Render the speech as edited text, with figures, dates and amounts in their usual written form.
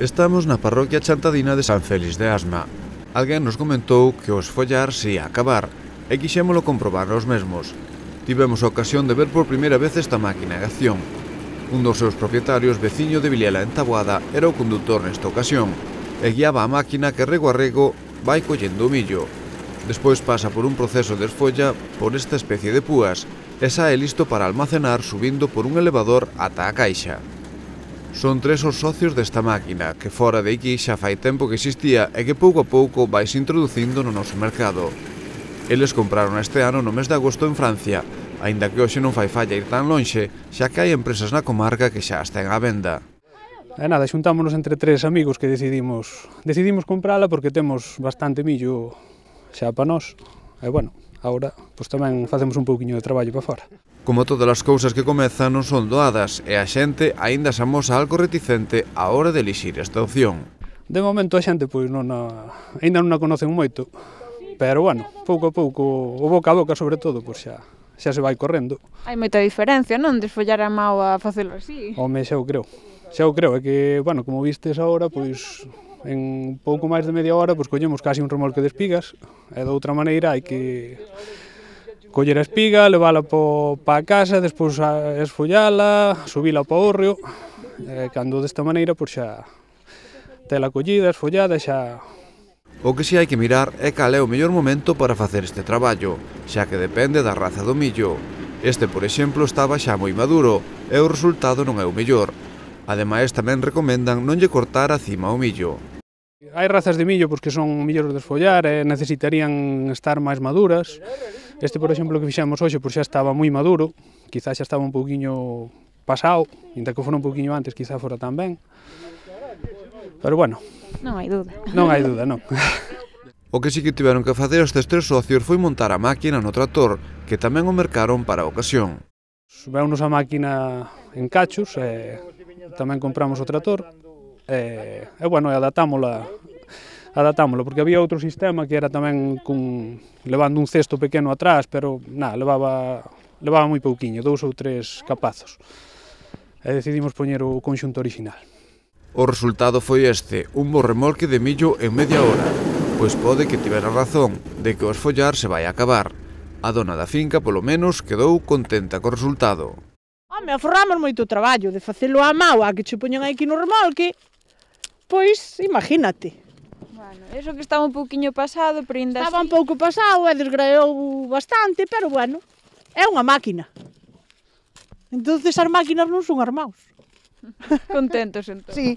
Estamos na parroquia chantadina de San Félix de Asma. Alguén nos comentou que o esfollar se ia acabar e quixémolo comprobar nos mesmos. Tivemos a ocasión de ver por primeira vez esta máquina en acción. Un dos seus propietarios, veciño de Vilela en Taboada, era o conductor nesta ocasión e guiaba a máquina que rego a rego vai collendo o millo. Despois pasa por un proceso de esfolla por esta especie de púas e sae listo para almacenar subindo por un elevador ata a caixa. Son tres os socios desta máquina, que fora de aquí xa fai tempo que existía e que pouco a pouco vais introducindo no noso mercado. Eles compraron este ano no mes de agosto en Francia, aínda que hoxe non fai falla ir tan lonxe, xa que hai empresas na comarca que xa están á venda. E nada, xuntámonos entre tres amigos que decidimos comprala porque temos bastante millo xa para nós. E bueno, agora pois tamén facemos un pouquiño de traballo para fora. Como todas as cousas que comezan non son doadas e a xente aínda se amosa algo reticente á hora de elixir esta opción. De momento a xente pois aínda non a conocen moito, pero bueno, pouco a pouco, o boca a boca sobre todo, pois xa se vai correndo. Hai moita diferencia, non? De esfollar a mao a facelo así. Home, xa o creo, é que, bueno, como vistes agora, pois en pouco máis de media hora pois collemos casi un remolque de espigas e de outra maneira hai que coller a espiga, levala pa a casa, despois esfollala, subila para o hórreo, e cando desta maneira, pois xa tela collida, esfollada, xa... O que si hai que mirar é cal é o mellor momento para facer este traballo, xa que depende da raza do millo. Este, por exemplo, estaba xa moi maduro e o resultado non é o mellor. Ademais, tamén recomendan non lle cortar a cima ao millo. Hai razas de millo que son millores de esfollar e necesitarían estar máis maduras. Este, por exemplo, que fixemos hoxe, xa estaba moi maduro, quizás xa estaba un pouquiño pasado, ainda que fora un pouquiño antes, quizás fora tamén. Pero bueno. Non hai dúda. Non hai dúda, non. O que sí que tiveron que facer estes tres socios foi montar a máquina no tractor, que tamén o mercaron para a ocasión. Veunos a máquina en cachos e tamén compramos o tractor e bueno, adaptámola, porque había outro sistema que era tamén levando un cesto pequeno atrás, pero nada, levaba moi pouquiño, 2 ou 3 capazos. E decidimos poñer o conxunto orixinal. O resultado foi este, un bo remolque de millo en media hora, pois pode que tivera razón de que o esfollar se vai acabar. A dona da finca, polo menos, quedou contenta co resultado. Home, aforramos moito traballo de facelo á mao, a que che poñen aquí no remolque, pois imagínate. Bueno, eso que estaba un pouquiño pasado, pero ainda estaba un pouco pasado e desgraou bastante, pero bueno, é unha máquina. Entonces as máquinas non son armaos. Contentos entón. Sí.